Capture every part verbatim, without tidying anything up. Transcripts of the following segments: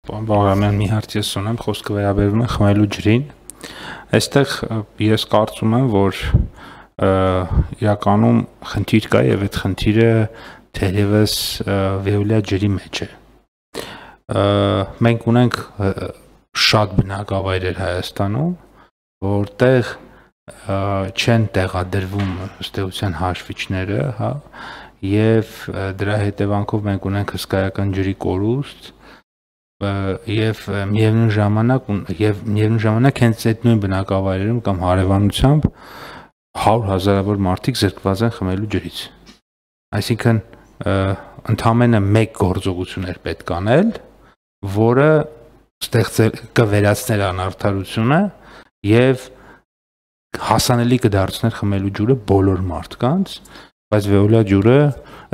Բաղրամյան մի հարց ես ունեմ, խոսքը վերաբերում է խմելու ջրին։ Այստեղ ես կարծում եմ, որ իրականում խնդիր կա եւ այդ խնդիրը թերևս վեոլյա ջրի մեջ է։ Մենք ունենք շատ բնակավայրեր Հայաստանում, որտեղ չեն տեղադրվում ըստ էության հաշվիչները, հա, եւ դրա հետևանքով մենք ունենք հսկայական ջրի կորուստ եւ միևնույն ժամանակ եւ միևնույն ժամանակ հենց այդ նույն բնակավայրերում կամ հարևանությամբ հարյուր հազարավոր մարդիկ զրկված են խմելու ջրից։ Այսինքն ընդամենը մեկ գործողություն էր պետք անել, որը ստեղծել կվերացներ անարդարությունը եւ հասանելի կդարձներ խմելու ջուրը բոլոր մարդկանց, բայց վեոլյա ջուրը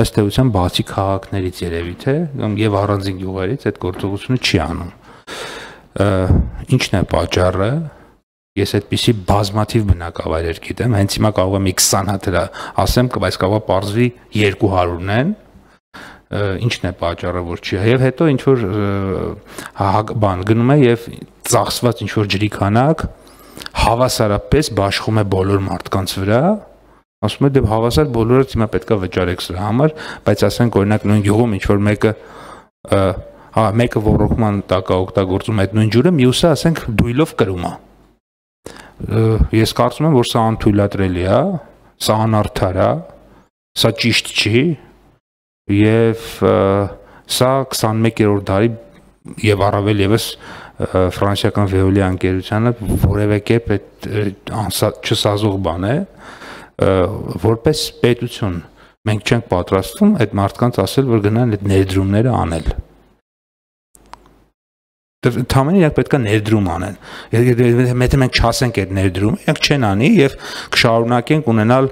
ըստ էության բացի քաղաքներից երևի թե եւ առանձին գյուղերից այդ գործողությունը չի անում։ Ինչն է պատճառը։ Ես այդպիսի բազմաթիվ բնակավայրեր գիտեմ, հենց հիմա կարող եմ քսան հատ դրա ասեմ, բայց կարող է պարզվի երկու հարյուրն են։ Ինչն է պատճառը, որ չի։ Եվ հետո ինչ որ բան գնում է եւ ծախսված ինչ որ ջրի քանակ հավասարապես բաշխում է բոլոր մարդկանց վրա։ Ասում է դե հավասար բոլորը հիմա պետքա վճարեք սրա համար, բայց ասենք օրինակ նույն գյուղում ինչ որ մեկը հա մեկը ոռոգման տակ է օգտագործում այդ նույն ջուրը, մյուսը ասենք դույլով կրում է։ Ես կարծում եմ, որ սա անթույլատրելի է, սա անարդար է, սա ճիշտ չի եւ սա քսանմեկերորդ դարի եւ առավել եւս ֆրանսիական վեոլյա ընկերությանը որևէ կերպ այդ չսազող բան է, որպես պետություն մենք չենք պատրաստվում այդ մարդկանց ասել, որ գնան այդ ներդրումները անել։ Թամենը իրենք պետք է ներդրում անեն։ Եթե մենք չասենք այդ ներդրումը, իրենք չեն անի եւ կշարունակենք ունենալ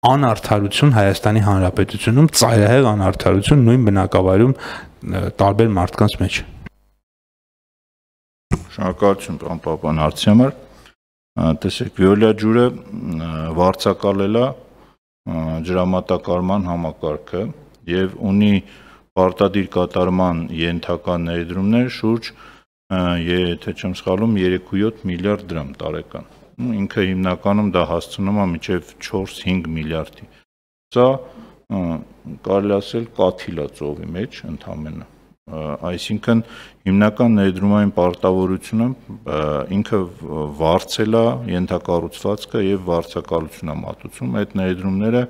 անարդարություն Հայաստանի Հանրապետությունում, ծայրահեղ անարդարություն նույն բնակավայրում տարբեր մարդկանց մեջ։ Շնորհակալություն պարոն Պապյան հարցի համար։ Տեսեք, վեոլյա ջուրը վարձակալել է ջրամատակարարման համակարգը եւ ունի պարտադիր կատարման ենթակա ներդրումներ շուրջ, եթե չեմ սխալվում, երեք ու յոթ միլիարդ դրամ տարեկան։ Ինքը հիմնականում դա հասցնում է մինչեւ չորս-հինգ միլիարդի։ Սա կարելի ասել կաթիլ է ծովի մեջ ընդամենը։ Այսինքն հիմնական ներդրումային պարտավորությունը ինքը վարձել է ենթակառուցվածքը եւ վարձակալություն է մատուցում։ Այդ ներդրումները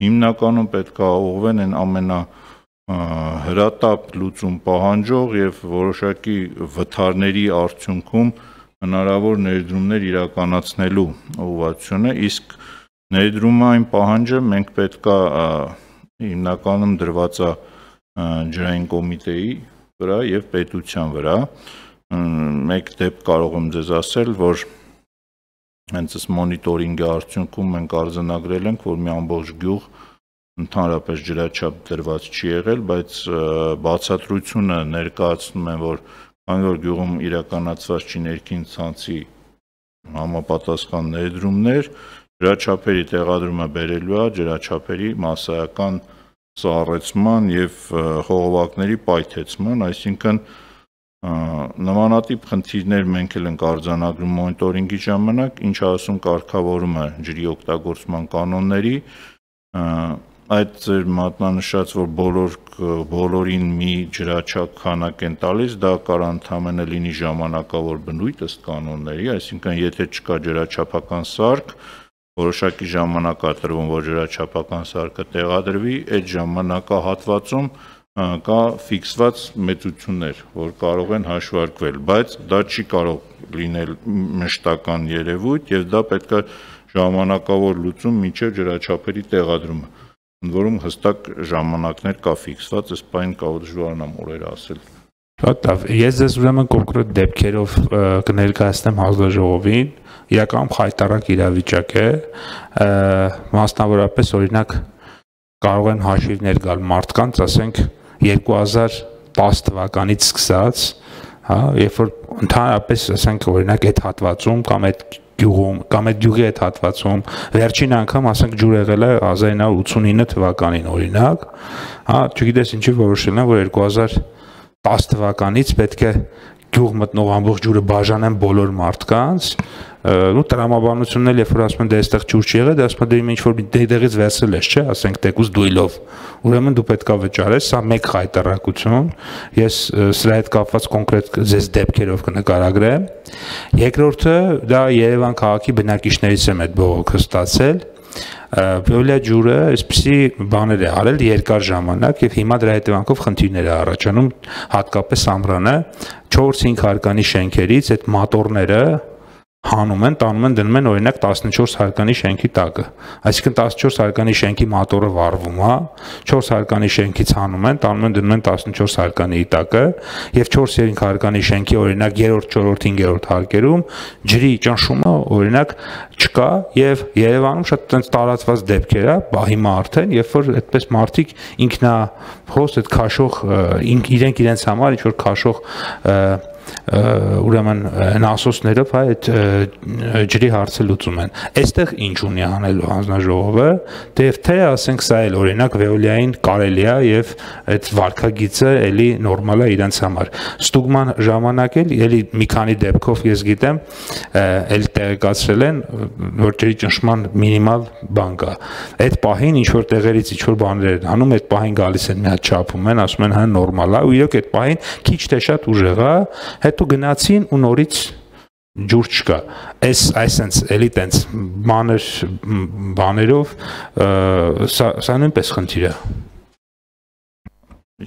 հիմնականում պետք է ուղղվեն այն ամենա հրատապ լուծում պահանջող եւ որոշակի վթարների արդյունքում հնարավոր ներդրումներ իրականացնելու ուղղվածությունը, իսկ ներդրումային պահանջը մենք պետք է հիմնականում դրված է ջրային կոմիտեի վրա եւ պետության վրա։ Մեկ դեպք կարող եմ ձեզ ասել, որ հենց այս մոնիտորինգի արդյունքում մենք արձանագրել ենք, որ մի ամբողջ գյուղ ընդհանրապես ջրաչափ դրված չի եղել, բայց բացատրությունը ներկայացնում են, որ քանի որ գյուղում իրականացված չի ներքին ցանցի համապատասխան ներդրումներ, ջրաչափերի տեղադրումը բերելու է ջրաչափերի մասսայական սառեցման եւ խողովակների պայթեցման, այսինքն նմանատիպ խնդիրներ մենք էլ ենք արձանագրում մոնիտորինգի ժամանակ, ինչ ասում կարգավորումը ջրի օգտագործման կանոնների, այդ ձեր մատնանշած, որ բոլոր բոլորին մի ջրաչափ քանակ են տալիս, դա կարող ընդհանրապես լինի ժամանակավոր բնույթ ըստ կանոնների, այսինքն եթե չկա ջրաչափական սարք, որոշակի ժամանակ է տրվում, որ ջրաչափական սարքը տեղադրվի, այդ ժամանակահատվածում կա ֆիքսված մեծություններ, որ կարող են հաշվարկվել, բայց դա չի կարող լինել մշտական երևույթ եւ դա պետք է ժամանակավոր լուծում մինչեւ ջրաչափերի տեղադրումը, ընդ որում հստակ ժամանակներ կա ֆիքսված, ըստ բան կարող դժվարանամ օրեր ասել։ Հատավ, ես ձեզ ուրեմն կոնկրետ դեպքերով կներկայացնեմ հանձնաժողովին, իրականում խայտառակ իրավիճակ է, մասնավորապես օրինակ կարող են հաշիվներ գալ մարդկանց, ասենք երկու հազար տասը թվականից սկսած, հա, երբ որ ընդհանրապես ասենք օրինակ այդ հատվածում կամ այդ գյուղում կամ այդ գյուղի այդ հատվածում վերջին անգամ ասենք ջուր եղել է հազար ինը հարյուր ութսունինը թվականին օրինակ, հա, չգիտես ինչի որոշել են, որ երկու հազար տասը թվականից պետք է գյուղ մտնող ամբողջ ջուրը բաժանեն բոլոր մարդկանց, ու տրամաբանությունն էլ երբ որ ասում են դե այստեղ ջուր չի եղել, դե ասում են դե ինչ որ դեղից վերցրել ես, չէ, ասենք տեկուս դույլով, ուրեմն դու պետքա վճարես, սա մեկ խայտարակություն, ես սրա հետ կապված կոնկրետ ձեզ դեպքերով կնկարագրեմ։ Երկրորդը դա Երևան քաղաքի բնակիչներից եմ այդ բողոքը ստացել, Վիոլիա ջուրը այսպիսի բաներ է արել երկար ժամանակ եւ հիմա դրա հետևանքով խնդիրներ է առաջանում, հատկապես ամռանը չորս-հինգ հարկանի շենքերից այդ մատորները հանում են, տանում են, դնում են օրինակ տասնչորս հարկանի շենքի տակը, այսինքն տասնչորս հարկանի շենքի մատորը վառվում է, չորս հարկանի շենքից հանում են, տանում են, դնում են տասնչորս հարկանի տակը եւ չորս-հինգ հարկանի շենքի օրինակ երրորդ, չորրորդ, հինգերորդ հարկերում ջրի ճնշումը օրինակ չկա եւ Երևանում շատ տենց տարածված դեպքեր է, բա հիմա արդեն երբ որ այդպես մարդիկ ինքնահոս այդ քաշող իրենք իրենց համար ինչ որ քաշող ուրեմն նասոսներով հա այդ ջրի հարցը լուծում են։ Այստեղ ինչ ունի անելու հանձնաժողովը, դե թե ասենք սա էլ օրինակ Վեոլիային կարելի է եւ այդ վարկագիծը էլի նորմալ է իրենց համար։ Ստուգման ժամանակ էլ էլի մի քանի դեպքով ես գիտեմ, էլ տեղեկացրել են, որ ջրի ճնշման մինիմալ բան կա։ Այդ պահին ինչ որ տեղերից ինչ որ բաներ են անում, այդ պահին գալիս են մի հատ չափում են, ասում են հա նորմալ է, ու իրոք այդ պահին քիչ թե շատ ուժեղ է, հետո գնացին ու նորից ջուր չկա։ Այս այսենց էլի տենց մանր բաներով սա սա նույնպես խնդիր է։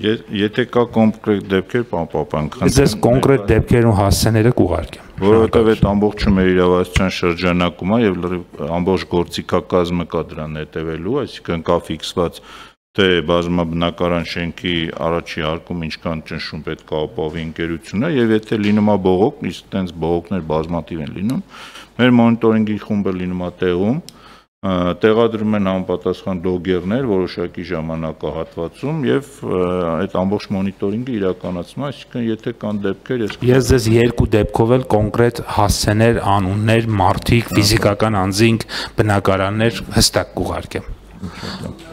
Եթե կա կոնկրետ դեպքեր, պարոն Պապյան, ձեզ կոնկրետ դեպքերն ու հասցեները կուղարկեմ։ Որովհետև այդ ամբողջը մեր իրավասության շրջանակում է եւ ամբողջ գործիքակազմը կա դրան հետևելու, այսինքն կա ֆիքսված թե բազմաբնակարան շենքի առաջի հարկում ինչքան ճնշում պետք է ապահովի ընկերությունը եւ եթե լինում է բողոք, իսկ տենց բողոքներ բազմաթիվ են լինում, մեր մոնիտորինգի խումբը լինում է տեղում, տեղադրում են համապատասխան լոգերներ որոշակի ժամանակահատվածում եւ այդ ամբողջ մոնիտորինգը իրականացնում է, այսինքն եթե կան դեպքեր, ես ես ձեզ երկու դեպքով էլ կոնկրետ հասցեներ, անուններ, մարդիկ, ֆիզիկական անձինք, բնակարաններ հստակ կուղարկեմ։